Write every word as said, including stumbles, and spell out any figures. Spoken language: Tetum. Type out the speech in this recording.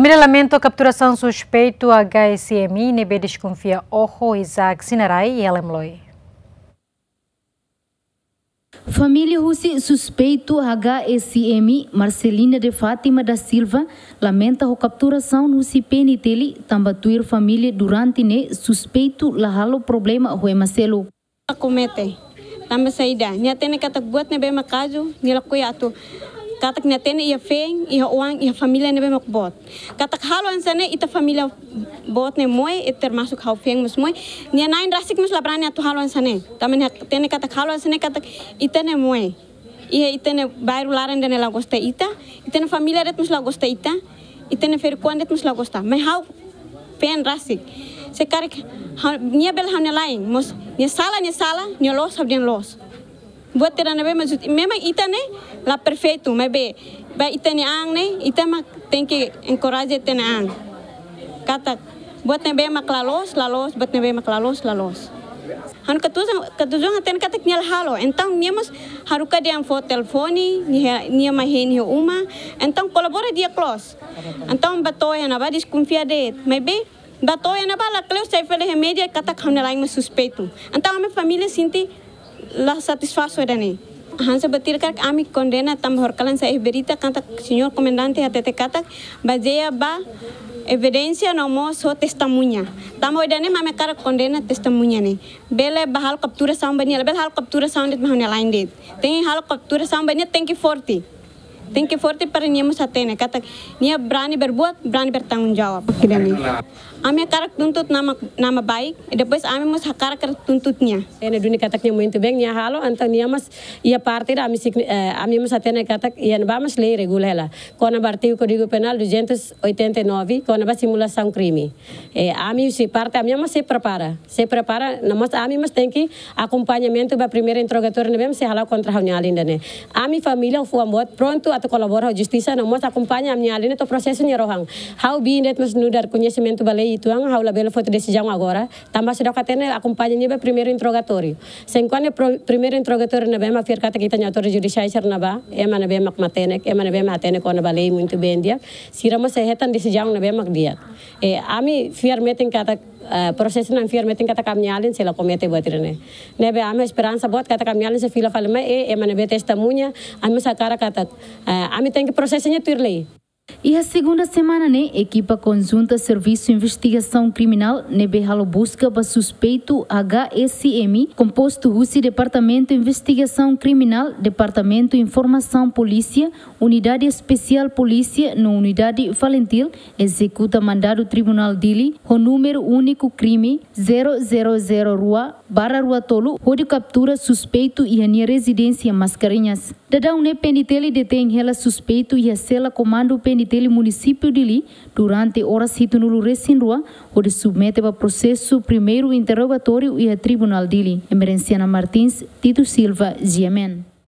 Família lamenta kapturasaun suspeitu H S M I ne'ebé deskonfia oho Isaac Sinarai iha Lemloi. Família husi suspeitu H S M I, Marcelina de Fátima da Silva, lamenta ho kapturasaun husi P N T L, tanba tuir família durante ne'e suspeitu la halo problema ho ema seluk. Komete. Tanba saida, nia hatene katak buat ne'ebé mak kazu, nia lakohi atu. Katak nia hatene iha feen, iha oan, iha família ne'ebé mak boot. Katak halo hanesan ne'e ita família boot ne'e moe, e termasuk ha'u feen mós moe. Nia na'in rasik mós la brani atu halo hanesan ne'e. Tanba nia hatene katak halo hanesan ne'e katak ita ne'e moe. Iha ita-nia bairru laran ida-ne'e la gosta ita, ita-nia família de'it mós la gosta ita, ita-nia ferik-oan de'it mós la gosta. Mai ha'u feen rasik. Se karik ha'u, nia bele ha'u-nia la'en, mós nia sala, nia sala, nia loos, ha'u dehan loos. Buat ida ne'ebé maksud, memang ita ne'e la perfeitu, maibé ba ita-nia an ne'e, ita mak tenke enkoraja ita-nia an. Katak, buat ne'ebé mak la loos, la loos, buat ne'ebé mak la loos, la loos. Ha'u-nia katujuan, katujuan hatene katak nia la halo. Entaun nia mós haruka dehan fó telefone, nia, nia mai hein iha uma. Entaun kolabora di'ak loos. Entaun ba to'o iha ne'ebá deskonfia de'it. Maibé ba to'o iha ne'ebá lakleur sai fali iha média katak ha'u-nia la'en mak suspeitu. Entaun ami família sente la satisfás ho ida-ne'e. Hanesan buat ida karik ami kondena tanba horikalan sai iha berita katak señór komandante hatete katak bazeia ba evidénsia no mós ho testemuña. Tanba ida-ne'e mak ami hakarak kondena testemuña ne'e. Bele ba halo kapturasaun ba nia, bele halo kapturasaun de'it ba ha'u-nia la'en de'it. Tenke halo kapturasaun ba nia, tenke forte. Tenke forte para nia mós hatene katak nia brani berbuat, brani bertanggung jawab. Ida-ne'e. Ami hakarak tuntut nama, nama baik, e depois ami mós hakarak tuntut nia. Ene duni katak nia muito bem, nia halo, entaun nia mós iha parte ida ami signi-, eh, ami mós hatene katak iha ne'ebá mós lei regula hela. Kona-ba artigu Kódigu Penál duzentos oitenta e nove, kona-ba simulasaun krime. Eh, ami husi parte, ami mós sei prepara. Sei prepara, no mós ami mós tenke akompañamentu ba primeiru interrogatóriu ne'ebé mós sei hala'o kontra ha'u-nia alin ida-ne'e. Ami família fuan boot prontu atu kolabora ho justisa, no mós akompaña ami-nia alin ida to'o prosesu nia rohan. Ha'u biin de'it mós nu'udar koñesimentu ba lei uitoan, ha'u labele foti desizaun agora. Tanba seidauk hatene akompaña nia ba primeiru interrogatóriu. Se enkuantu pro-, primeiru interrogatóriu ne'ebé mak fiar katak ita-nia autoridade judisiál sira ne'ebá, ema ne'ebé mak matenek, ema ne'ebé mak hatene kona-ba lei muito bem di'ak, sira mós sei hetan desizaun ne'ebé mak di'ak. Eh, ami fiar metin katak, eh, prosesu ne'e fiar metin katak ami-nia alin sei la komete buat ida-ne'e. Ne'ebé ami esperansa boot katak ami-nia alin sei fila fali mai, eh, ema ne'ebé testemuña, ami mós hakarak katak, eh, ami tenke prosesu nia tuir lei. Iha segunda semana ne'e, ekipa konjunta Servisu Investigasaun Kriminál ne'ebé halo buska ba suspeitu H S M I, kompostu husi Departamentu Investigasaun Kriminál, Departamentu Informasaun Polísia, Unidade Espesiál Polísia no Unidade Falintil, ezekuta mandadu Tribunál Dili ho númeru úniku krime zero zero zero rua barra rua tolu, hodi kaptura suspeitu iha nia rezidénsia Mascarenhas. Daudaun ne'e P N T L detein hela suspeitu iha sela komandu P N T L Munisípiu Dili durante oras hitunulu resin rua, hodi submete ba prosesu primeiru interrogatóriu iha Tribunál Dili. Emerenciana Martins, Tito Silva, G M N.